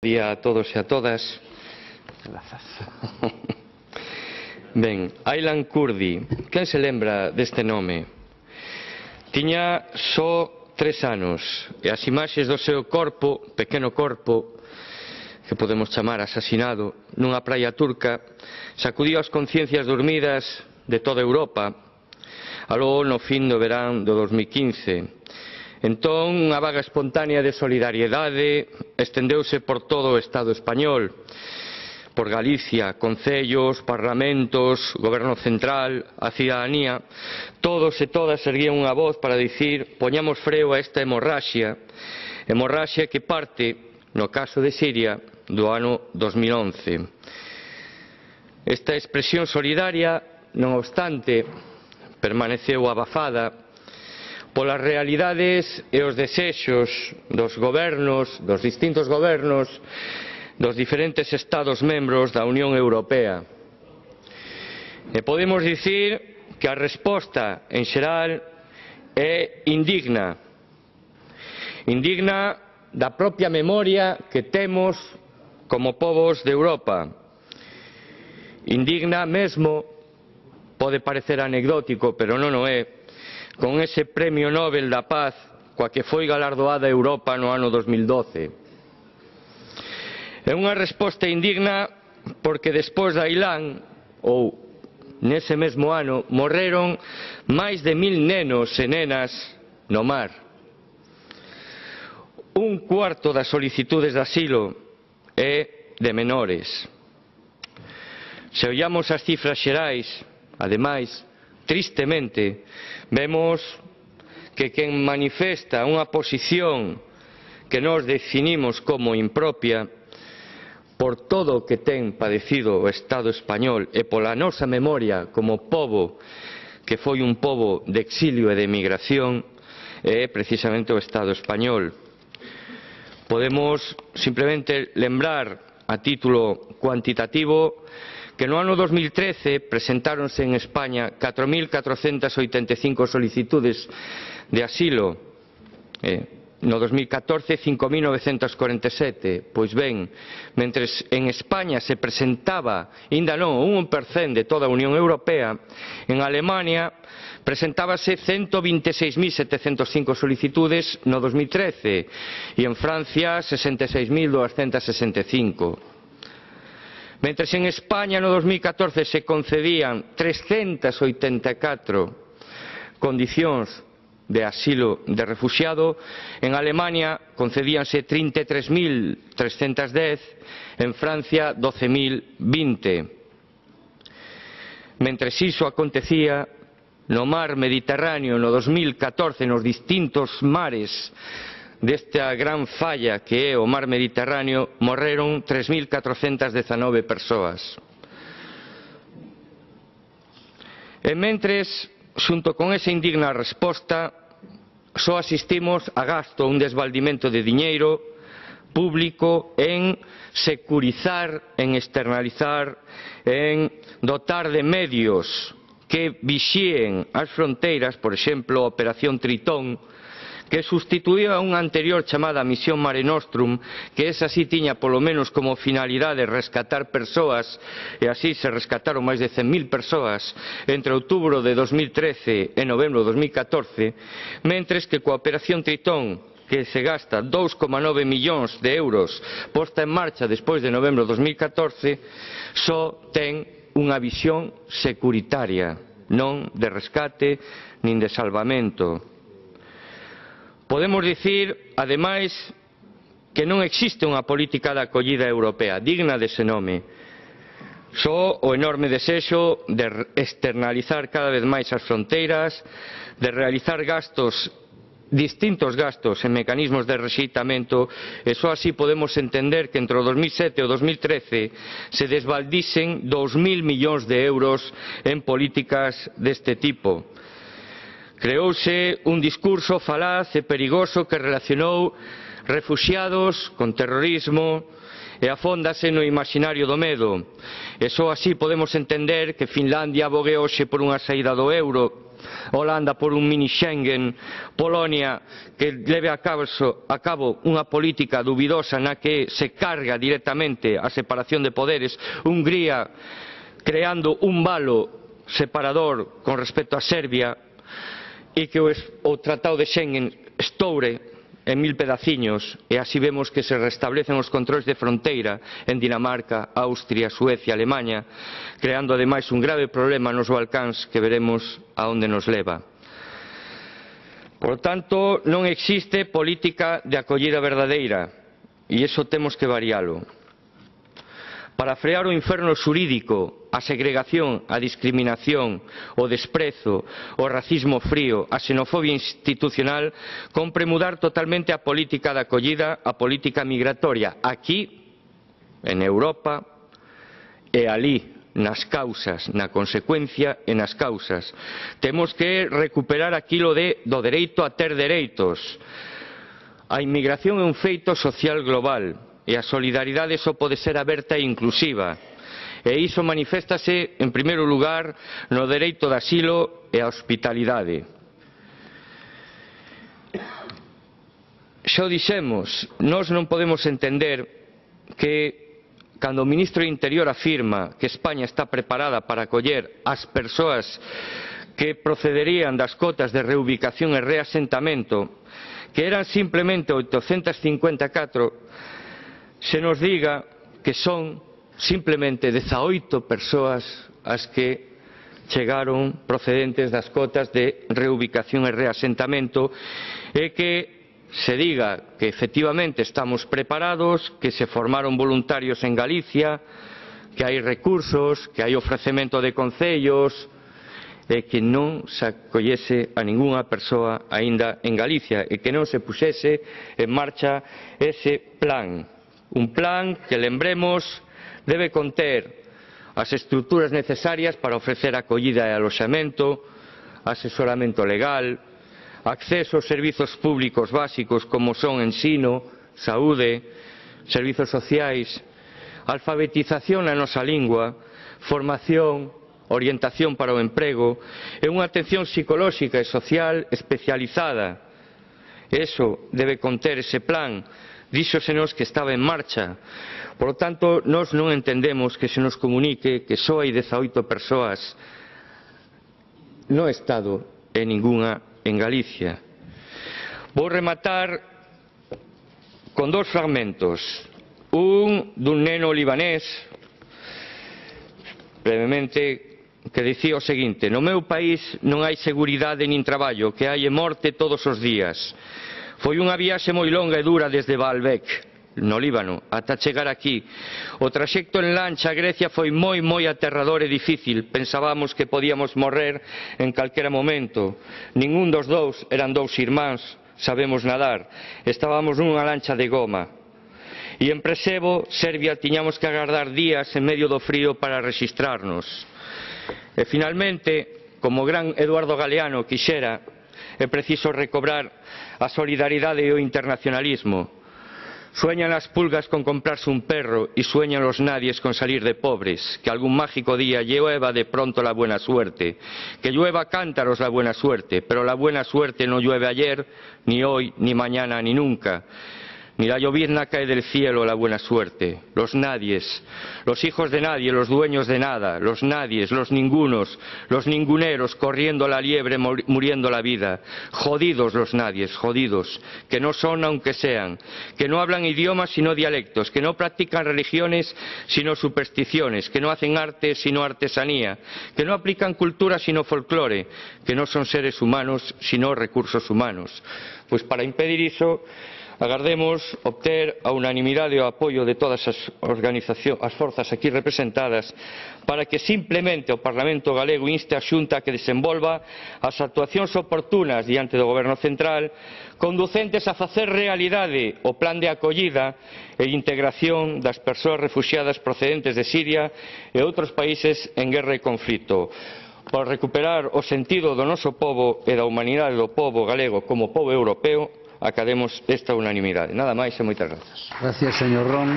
Día a todos e a todas. Grazas. Ben, Aylan Kurdi, quen se lembra deste nome? Tiña só 3 anos e as imaxes do seu corpo, pequeno corpo, que podemos chamar asasinado, nunha praia turca, sacudiu as conciencias dormidas de toda Europa, aló no fin do verán do 2015. Entón, unha vaga espontánea de solidariedade estendeuse por todo o Estado español, por Galicia, concellos, parlamentos, goberno central, a cidadanía. Todos e todas erguían unha voz para dicir: poñamos freo a esta hemorraxia que parte, no caso de Siria, do ano 2011. Esta expresión solidaria, non obstante, permaneceu abafada polas realidades e os desexos dos gobernos, dos distintos gobernos dos diferentes Estados membros da Unión Europea. E podemos dicir que a resposta en xeral é indigna. Indigna da propia memoria que temos como povos de Europa. Indigna mesmo, pode parecer anecdótico, pero non o é, con ese Premio Nobel da Paz coa que foi galardoada Europa no ano 2012. É unha resposta indigna porque despois de Aylan, ou nese mesmo ano, morreron máis de 1000 nenos e nenas no mar. Un cuarto das solicitudes de asilo é de menores. Se ollamos as cifras xerais, ademais, tristemente, vemos que quen manifesta unha posición que nós definimos como impropia por todo o que ten padecido o Estado español e pola nosa memoria como pobo que foi un pobo de exilio e de emigración é precisamente o Estado español. Podemos simplemente lembrar a título cuantitativo que no ano 2013 presentáronse en España 4.485 solicitudes de asilo, no 2014 5.947. Pois ben, mentres en España se presentaba, aínda non, un 1% de toda a Unión Europea, en Alemania presentábase 126.705 solicitudes no 2013 e en Francia 66.265. Mentres en España no 2014 se concedían 384 condicións de asilo de refuxiado, en Alemania concedíanse 33.310, en Francia 12.020. Mentres iso acontecía, no mar Mediterráneo no 2014, nos distintos mares desta gran falla que é o mar Mediterráneo, morreron 3.419 persoas. E mentres, xunto con esa indigna resposta, só asistimos a gasto, un desvaldimento de diñeiro público en securizar, en externalizar, en dotar de medios que vixíen as fronteiras, por exemplo, a Operación Tritón, que sustituía a unha anterior chamada Misión Mare Nostrum, que esa sí tiña polo menos como finalidade rescatar persoas, e así se rescataron máis de 100.000 persoas entre outubro de 2013 e novembro de 2014, mentres que coa Operación Tritón, que se gasta 2,9 millóns de euros posta en marcha despois de novembro de 2014, só ten unha visión securitaria, non de rescate nin de salvamento. Podemos dicir, ademais, que non existe unha política de acollida europea digna dese nome. Só o enorme desexo de externalizar cada vez máis as fronteiras, de realizar distintos gastos en mecanismos de rexeitamento, e só así podemos entender que entre o 2007 e o 2013 se desvaldisen 2.000 millóns de euros en políticas deste tipo. Creouse un discurso falaz e perigoso que relacionou refuxiados con terrorismo e afóndase no imaxinario do medo. E só así podemos entender que Finlandia abogue hoxe por unha saída do euro Holanda por un mini Schengen, Polonia que leve a cabo unha política dubidosa na que se carga directamente a separación de poderes, Hungría creando un valo separador con respecto a Serbia, e que o Tratado de Schengen estoure en 1000 pedaciños, e así vemos que se restablecen os controis de fronteira en Dinamarca, Austria, Suecia, Alemanha, creando ademais un grave problema nos Balcáns que veremos a onde nos leva. Por tanto, non existe política de acollida verdadeira, e iso temos que varialo. Para frear o inferno xurídico, a segregación, a discriminación, o desprezo, o racismo frío, a xenofobia institucional, compre mudar totalmente a política de acollida, a política migratoria, aquí, en Europa, e alí, nas causas, na consecuencia e nas causas. Temos que recuperar aquilo do dereito a ter dereitos. A inmigración é un feito social global, e a solidaridade só pode ser aberta e inclusiva. E iso maniféstase, en primeiro lugar, no dereito de asilo e a hospitalidade. Xa o dixemos, nós non podemos entender que, cando o ministro do Interior afirma que España está preparada para acoller as persoas que procederían das cotas de reubicación e reasentamento, que eran simplemente 854, se nos diga que son simplemente 18 persoas as que chegaron procedentes das cotas de reubicación e reasentamento, e que se diga que efectivamente estamos preparados, que se formaron voluntarios en Galicia, que hai recursos, que hai ofrecemento de concellos, e que non se acollese a ningunha persoa aínda en Galicia, e que non se puxese en marcha ese plan. Un plan que, lembremos, debe conter as estruturas necesarias para ofrecer acollida e aloxamento, asesoramento legal, acceso aos servizos públicos básicos como son ensino, saúde, servizos sociais, alfabetización na nosa lingua, formación, orientación para o emprego e unha atención psicolóxica e social especializada. Eso debe conter ese plan. Díxosenos que estaba en marcha. Por lo tanto, nós non entendemos que se nos comunique que só hai 18 persoas no Estado e ningunha en Galicia. Vou rematar con dos fragmentos. Un dun neno libanés, brevemente, que dicía o seguinte: no meu país non hai seguridade nin traballo, que hai morte todos os días. Foi unha viaxe moi longa e dura desde Baalbek, no Líbano, ata chegar aquí. O traxecto en lancha a Grecia foi moi aterrador e difícil. Pensábamos que podíamos morrer en calquera momento. Ningún dos dous eran dous irmáns, sabemos nadar. Estábamos nunha lancha de goma. E en Presevo, Serbia, tiñamos que agardar días en medio do frío para rexistrarnos. E finalmente, como o gran Eduardo Galeano quixera, é preciso recobrar a solidaridade e o internacionalismo. Sueñan las pulgas con comprarse un perro y sueñan los nadies con salir de pobres. Que algún mágico día llueva de pronto la buena suerte. Que llueva a cántaros la buena suerte, pero la buena suerte no llueve ayer, ni hoy, ni mañana, ni nunca. Ni la llovizna cae del cielo la buena suerte. Los nadies, los hijos de nadie, los dueños de nada, los nadies, los ningunos, los ninguneros, corriendo la liebre, muriendo la vida. Jodidos los nadies, jodidos, que no son aunque sean, que no hablan idiomas sino dialectos, que no practican religiones sino supersticiones, que no hacen arte sino artesanía, que no aplican cultura sino folclore, que no son seres humanos sino recursos humanos. Pois para impedir iso, agardemos obter a unanimidade e o apoio de todas as forzas aquí representadas para que simplemente o Parlamento galego inste a Xunta a que desenvolva as actuacións oportunas diante do Goberno central conducentes a facer realidade o plan de acollida e integración das persoas refuxiadas procedentes de Siria e outros países en guerra e conflito, para recuperar o sentido do noso pobo e da humanidade do pobo galego como pobo europeo. Academos esta unanimidade. Nada máis e moitas grazas. Gracias, señor Ron.